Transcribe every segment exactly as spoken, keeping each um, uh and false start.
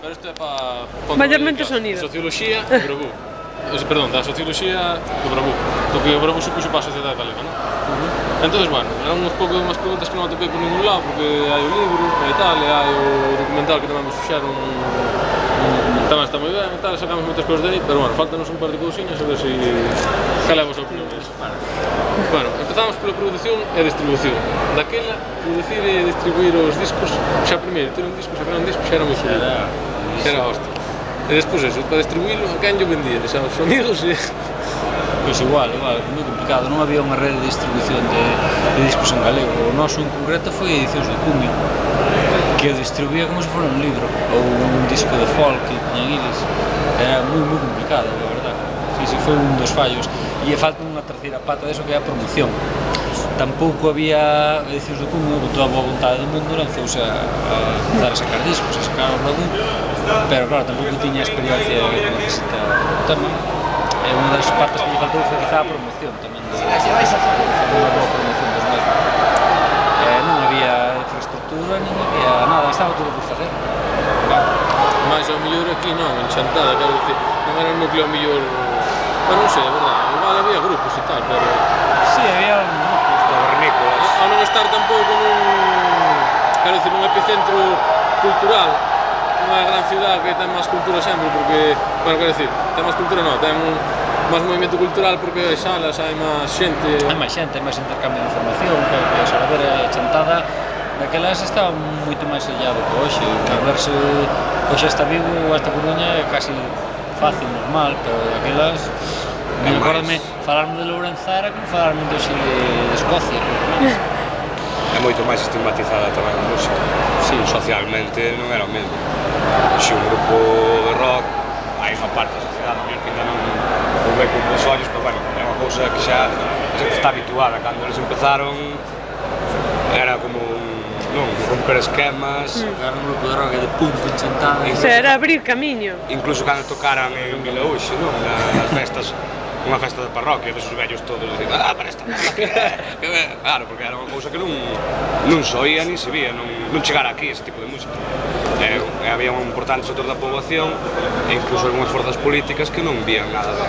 Pero isto é para... Maiormente sonido. Socioloxía e Bravú. Perdón, da socioloxía do Bravú. Porque o Bravú supuxo para a sociedade galega, non? Entón, bueno, eran uns pouco unhas preguntas que non atopei por ningún lado, porque hai o libro e tal, e hai o documental que tamén me fixeron, tamén está moi ben e tal, sacamos moitas cousas de aí, pero bueno, faltanos un par de cousiñas a ver se cal é a vosa opinión disso. Bueno, empezamos pola produción e distribución. Daquela, producir e distribuir os discos, xa primeiro, ter un disco, sacar un disco, xa era moi subido, xa era hostia. E despois eso, para distribuílo, a quen yo vendía, aos amigos e... Pois igual, igual, moi complicado, non había unha rede de distribución de, de discos en galego. O noso en concreto foi Edicións do Cumio, que o distribuía como se fora un libro, ou un disco de folk que tiñan eles. Era moi, moi complicado, a verdad. Sí, sí, foi un dos fallos. E falta unha terceira pata deso que é a promoción. Tampouco había Edicións do Cumio, con toda a boa vontade do mundo, lanzouse a, a dar a sacar discos, a sacar o Bravú, pero claro, tampouco tiña a experiencia que necesita o tema. E unha das partes que lle faltou foi quizá a promoción tamén do... unha boa promoción dos mesmos. Eh, non había infraestructura, non había nada, estaba todo por facer. Mais ao mellor aquí non, en Chantada, quero dicir, non era un núcleo ao mellor... Bueno, non sei, a verdade, igual había grupos e tal, pero... Si, había grupos cavernícolas. Ao non estar tampouco nun... quero dicir, nun epicentro cultural, unha gran cidade que ten máis cultura sempre, porque, bueno, quero dicir, ten máis cultura non, ten máis movimento cultural porque hai salas, hai máis xente... Hai máis xente, hai máis intercambio de información, que, que a ver, a Chantada, daquelas estaba moito máis sellado que hoxe, a verse, hoxe está Vigo, esta Coruña é casi fácil, normal, pero daquelas, me recordame, falarme de Lourenza era como falarme de hoxe de Escocia, é moito máis estigmatizada tamén a música. Sí, socialmente non era o mesmo. Se un grupo de rock, hai unha parte da sociedade que ainda non o ve con bons ollos, pero bueno, é unha cousa que xa está habituada. Cando eles empezaron, era como un, non, romper esquemas. Era un grupo de rock de punk en Chantada. O sea, era abrir camiño. Incluso cando tocaran en Vilaúxe, non? Nas festas, unha festa de parroquia, desos vellos todos dicindo, ah, para esta parroquia, claro, porque era unha cousa que non non se oía ni se vía, non, non chegara aquí ese tipo de música. E, e había un importante sector da poboación e incluso algunhas forzas políticas que non vían nada de...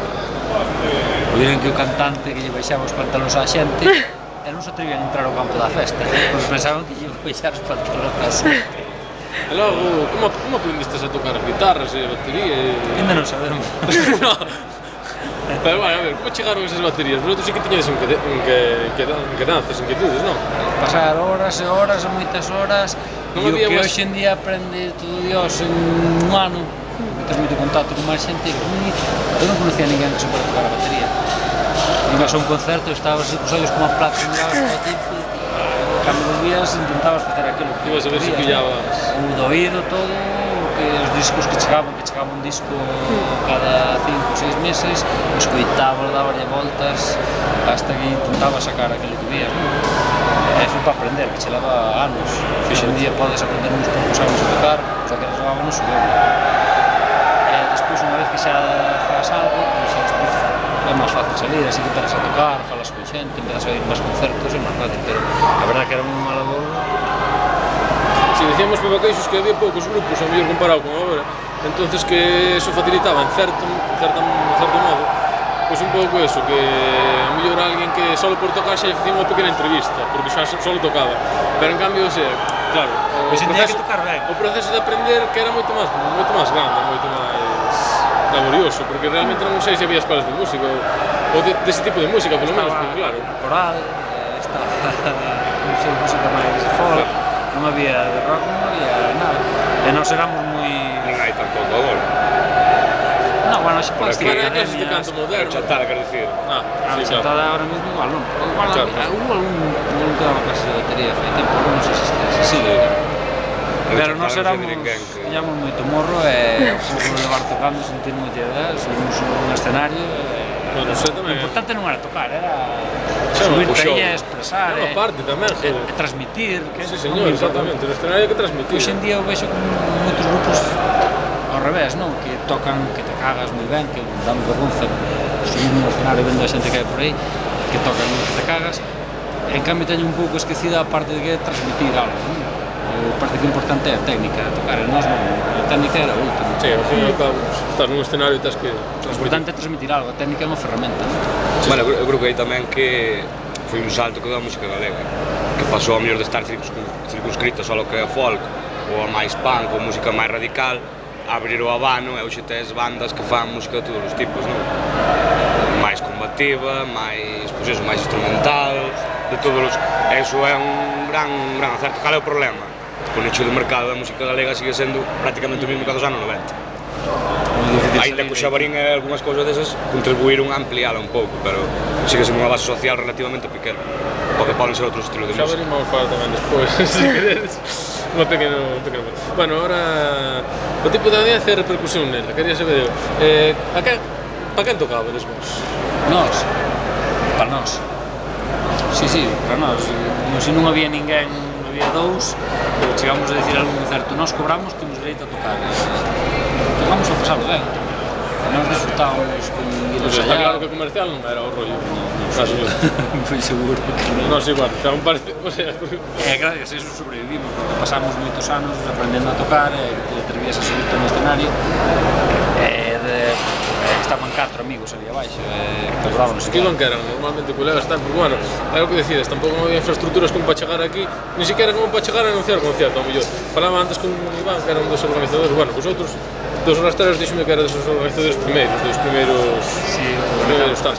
Oíren que o cantante que lle baixaba os pantalóns á xente e non se atrevían a entrar ao campo da festa, porque pensaban que lle baixar os pantalóns á xente. E logo, como, como aprendistes a tocar as guitarras e a batería e... Ainda non sabemos. No. Pero, bueno, a ver, como chegaron esas baterías? Vosotros sí que tiñades inquedanzas, inquietudes, non? Pasar horas e horas, moitas horas, e o que hoxe en día aprende todo Dios en un ano, que tens moito contacto con máis xente, eu non conocía a ninguén que supera tocar a batería. Ibas a un concerto e estabas así cos ollos como a placa, mirabas para ti, cando volvías intentabas facer aquilo que ibas a ver se pillabas o do oído todo, que os discos que chegaban, que chegaba un disco cada cinco ou seis meses, escoitabas, daballe voltas hasta que intentaba sacar aquilo que vías, non? E foi para aprender, que che leva anos. Hoxe en día podes aprender uns poucos anos a tocar, xa que levábamos o doble. E despois, unha vez que xa faz algo, pois xa despois é máis fácil salir, así que empezas a tocar, falas con xente, empezas a ir máis concertos, é máis fácil, pero a verdad que era unha labor. Si decíamos Pepa Queixos que había poucos grupos, a mellor comparado con agora, entonces que eso facilitaba en certo, en certo, en certo modo, pois un pouco eso, que a mellor alguén que solo por tocar xa facía unha pequena entrevista, porque xa solo tocaba, pero en cambio, o sea, claro, o proceso, o proceso de aprender que era moito máis, moito máis grande, moito máis laborioso, porque realmente non sei se había escolas de música ou de, dese tipo de música, polo menos, porque claro. Coral, estaba, non sei, música máis folk, non había de rock, non había nada, e nós éramos moi... Nin hai tampouco agora. Non, bueno, xe pode ser academias de canto moderno. Chantada, quero dicir. Ah, sí, claro. Chantada ahora mesmo igual, non? Igual, hubo algún que daba clases de batería, fai tempo, non sei se se sigue. Pero nós éramos, tiñamos moito morro e o levar tocando, sentir moita idea, subimos un escenario e... Bueno, sei tamén. O importante non era tocar, era subirte aí e expresar, e parte tamén, e transmitir. Sí, señor, exactamente, o escenario que transmitir. Hoxe en día eu vexo como moitos grupos ao revés, non? Que tocan, que te cagas moi ben, que dan vergonza subir no escenario vendo a xente que hai por aí, que tocan que te cagas, e en cambio teño un pouco esquecida a parte de que transmitir algo, non? parece que o importante é a técnica de tocar, e nós non, a técnica era o último. Sí, ao fin e ao cabo, estás nun escenario e tens que O importante é transmitir algo, a técnica é unha ferramenta, non? Bueno, eu creo que aí tamén que foi un salto que deu a música galega, que pasou a mellor de estar circunscrita só ao que é folk ou a máis punk ou música máis radical, a abrir o abano e hoxe tes bandas que fan música de todos os tipos, non? Máis combativa, máis, pois eso, máis instrumental, de todos os... Eso é un gran, un gran acerto. Cal é o problema? O nicho do mercado da música galega sigue sendo prácticamente o mesmo que dos anos noventa. Ainda que o Xabarín e algunhas cousas desas contribuíron a ampliála un pouco, pero sigue sendo unha base social relativamente pequena, porque poden ser outros estilos de música. Xabarín vamos falar tamén despois, se queredes, unha pequena... Bueno, ahora, o tipo de audiencia e repercusión nela, quería saber eu, eh, a quen, pa quen tocabades vos? Nós, para nós. Sí, sí, para nós. Como se non había ninguén, había dous, chegamos a decir algún concerto, nós cobramos, temos dereito a tocar. Tocamos a pasarlo ben. Nós disfrutábamos con ir Pois a está claro ensaiar. que comercial non era o rollo. Non, non foi seguro. Nós igual, xa un parece, o sea... E gracias a eso sobrevivimos, porque pasamos moitos anos aprendendo a tocar, e te atrevías a subirte no escenario, e de, e estaban catro amigos ali abaixo, e perdoámonos Que iban que eran normalmente colegas tal, porque bueno, é o que decides, tampouco non había infraestructuras como para chegar aquí, ni siquiera como para chegar a anunciar o concierto, ao mellor. Falaba antes con Iván, que era un dos organizadores, bueno, vosotros, dos rastreros, díxome que era dos organizadores primeiros, dos primeiros, Sí, os primeiros tal.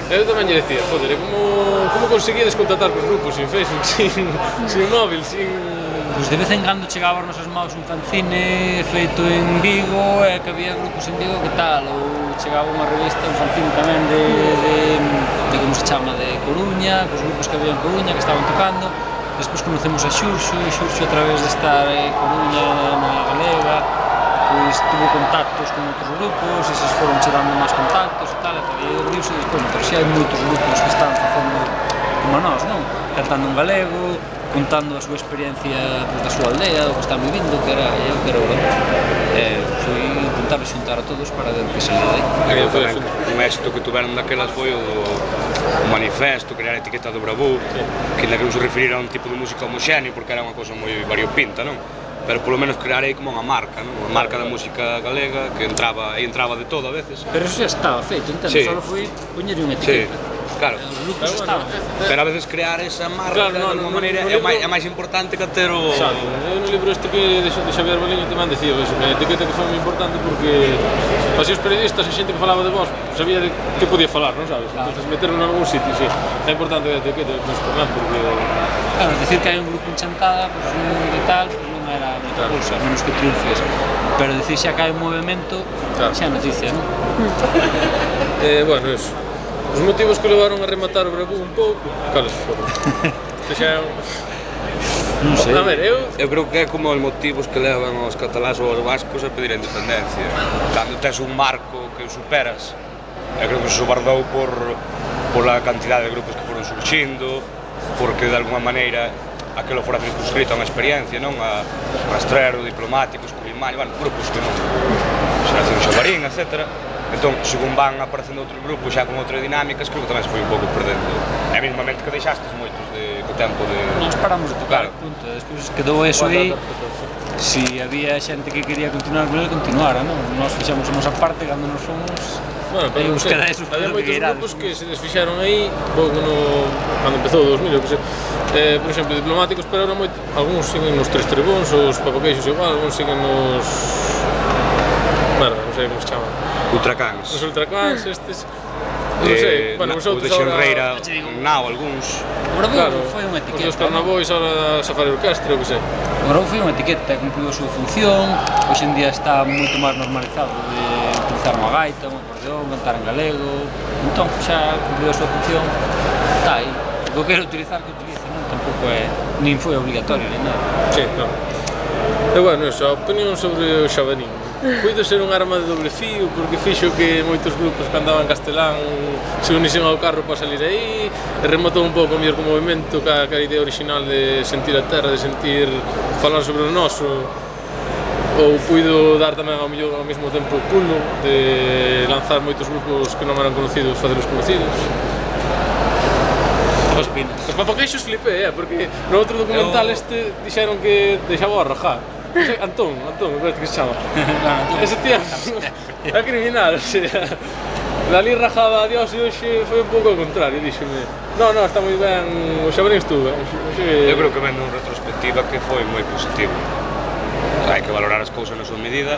Eu tamén lle decía, joder, como, como conseguides contactar cos grupos sin Facebook, sin, sin móvil, sin... Pois de vez en cando chegaba aos nosos maus un fanzine feito en Vigo, e que había grupos en Vigo que tal, ou chegaba unha revista, un fanzine tamén de, de, de como se chama, de Coruña, cos grupos que había en Coruña que estaban tocando. Despois conocemos a Xurxo, e Xurxo a través de estar en Coruña, na Galega, pois tuvo contactos con outros grupos, e eses foron chegando máis contactos e tal, e abriuse despois, pero xa hai moitos grupos que están facendo como nós, non? Cantando en galego, contando a súa experiencia pues, da súa aldea, o que están vivindo, que era eu, que era o eh, foi intentar xuntar a todos para ver o que saía daí. E tamén un éxito que tuveron daquelas foi o, o manifesto, crear a etiqueta do Bravú, que ainda que non se referira a un tipo de música homoxéneo, porque era unha cosa moi variopinta, non? Pero polo menos crear aí como unha marca, non? Unha marca da música galega que entraba e entraba de todo a veces. Pero eso xa estaba feito, entendo? Sí. Só foi poñer unha Sí, etiqueta. claro. Os grupos estaban. Pero a veces crear esa marca Claro, no, de alguma no, maneira no é, libro- máis, é máis importante que ter o... Sabe, eu no libro este que de, de Xavier Baliño tamén decía eso, que a etiqueta que foi moi importante porque así os periodistas e xente que falaba de vos sabía de que podía falar, non sabes? Claro. Entonces meterlo en algún sitio, sí. É importante a etiqueta, pois, tamén, porque... Claro, decir que hai un grupo en Chantada, pues, un de tal, pues, non era moita Claro. cousa, menos que triunfes. Pero decir xa que hai un movimento, Claro. xa é noticia, non? Eh, bueno, eso. Os motivos que levaron a rematar o Bravú un pouco, cales foron? Que xa é un... Non sei. A ver, eu... Eu creo que é como os motivos que levan os catalás ou os vascos a pedir a independencia. Cando tes un marco que o superas, eu creo que se sobardou por, por a cantidade de grupos que foron surxindo, porque de alguma maneira aquilo fora circunscrito a unha experiencia, non? A Rastrero, Diplomáticos, Culimaño, bueno, grupos que non... Xeración Xabarín, etcétera. Entón, según van aparecendo outros grupos xa con outras dinámicas, creo que tamén se foi un pouco perdendo. E mesmamente que deixastes moitos de, co tempo de... Nós paramos de tocar, Claro. punto. Despois quedou eso aí. Si había xente que quería continuar con ele, continuara, non? Nós fixamos a nosa parte cando nos fomos. Bueno, pero Aí non uns sei, queda esos había polo moitos que irades. grupos que se desfixaron aí, pouco no... cando empezou o dos mil, eu que sei. Eh, por exemplo, Diplomáticos, pero ahora moito... Algúns siguen nos Tres Trebóns, os Papaqueixos igual, algúns siguen nos... Merda, non sei como se chaman. Ultracans. Os Ultracans, estes... Non sei, bueno, na- vosotros o de Xenreira, ahora- Xa te digo. Nao, algúns. O Bravú Claro, foi unha os etiqueta. dos Carnavois, ahora Safari Orquestra, eu que sei. O Bravú foi unha etiqueta, cumpliu a súa función. Hoxe en día está moito máis normalizado de utilizar unha gaita, un acordeón, cantar en galego. Entón, xa cumpliu a súa función. Está aí. O que quero utilizar, que utilice, non? Tampouco é... Nin foi obligatorio, nin nada. Sí, claro. E bueno, eso, a opinión sobre o Xabarín. Puido ser un arma de doble fío porque fixo que moitos grupos que andaban en castelán se unisen ao carro para salir aí e rematou un pouco mellor co movimento ca, ca idea original de sentir a terra, de sentir falar sobre o noso, ou puido dar tamén ao mellor ao mesmo tempo o pulo de lanzar moitos grupos que non eran conocidos, facelos conocidos. que opinas? Os papaqueixos flipei, eh, porque no outro documental Eu- este dixeron que deixaba a rajar. Antón, Antón, me parece que se chama. Claro, Ese tío é criminal, o sea, dali rajaba a Dios e hoxe foi un pouco ao contrario, díxeme no, no, está moi ben, o Xabarín estuvo, Eu creo que vendo en retrospectiva que foi moi positivo. Hai que valorar as cousas na súa medida.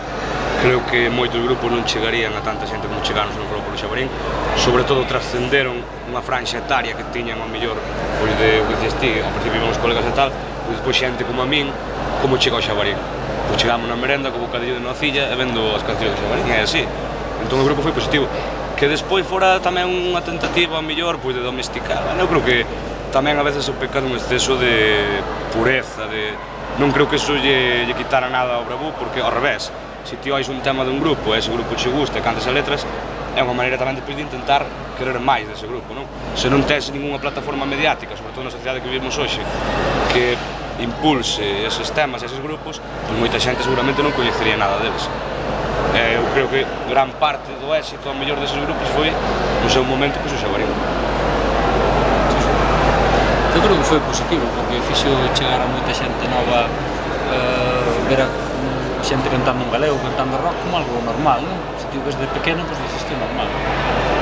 Creo que moitos grupos non chegarían a tanta xente como chegaron se non fora polo Xabarín. Sobre todo trascenderon unha franxa etaria que tiñan ao mellor pois de o que dices ti, ao principio íbamos colegas e tal, e despois xente como a min, como chega ao Xabarín. Pois chegamos na merenda co bocadillo de nocilla e vendo as cancións do Xabarín, e é así. Entón o grupo foi positivo. Que despois fora tamén unha tentativa ao mellor pois de domesticar. Eu creo que tamén a veces o pecado un exceso de pureza, de non creo que eso lle, lle quitara nada ao Bravú, porque ao revés, se ti ois un tema dun grupo e ese grupo che gusta e cantas as letras, é unha maneira tamén depois de intentar querer máis dese grupo, non? Se non tes ningunha plataforma mediática, sobre todo na sociedade que vivimos hoxe, que impulse eses temas e eses grupos, pois moita xente seguramente non coñecería nada deles. Eh, eu creo que gran parte do éxito ao mellor deses grupos foi no seu momento que o Xabarín. Eu creo que foi positivo, porque fixo chegar a moita xente nova, eh, ver a mm, xente cantando en galego, cantando rock como algo normal, non? Se ti o ves de pequeno, pois dices que é normal.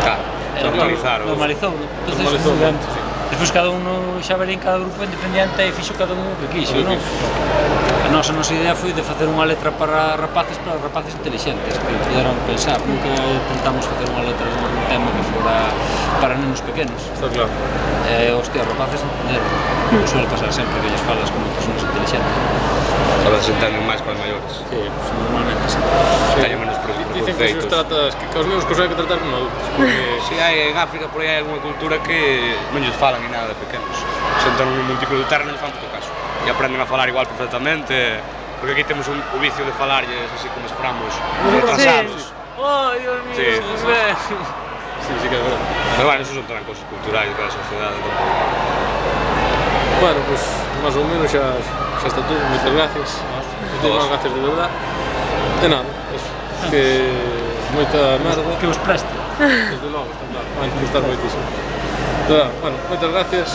Claro, Eh, normalizar o... normalizou, entonces, Normalizou, ben, sí. despois cada un no Xabarín, cada grupo independente e fixo cada un o que quixo, O que non? quixo. A nosa, nosa idea foi de facer unha letra para rapaces, para rapaces inteligentes, que puderan pensar, nunca tentamos facer unha letra un tema que fora para nenos pequenos. Está claro. Eh, hostia, os rapaces entenderon, como suele pasar sempre, que lles falas como personas inteligentes. A veces entenden máis que os maiores. Sí, pues, normalmente sí. Teñen menos pre- Dicen que se os preconceitos. tratas, que, que os nenos cos hai que tratar como adultos, porque Si hai en África, por aí hai algunha cultura que non lles falan ni nada de pequenos. Sentan nun montículo de terra e non lles fan puto caso. E aprenden a falar igual perfectamente, porque aquí temos un, o vicio de falarlles así como esperamos, retrasados. Ay, Dios mío, Sí, sí, sí, sí. Sí, sí que é verdade. Pero bueno, eso son tamén cosas culturais de cada sociedade. Tampouco. Bueno, pues máis ou menos xa, xa está todo, moitas gracias. Moitas gracias de verdade. De nada, eso. Que moita merda. Que os preste. Desde logo, está claro. Vai costar moitísimo. De verdade, bueno, moitas gracias.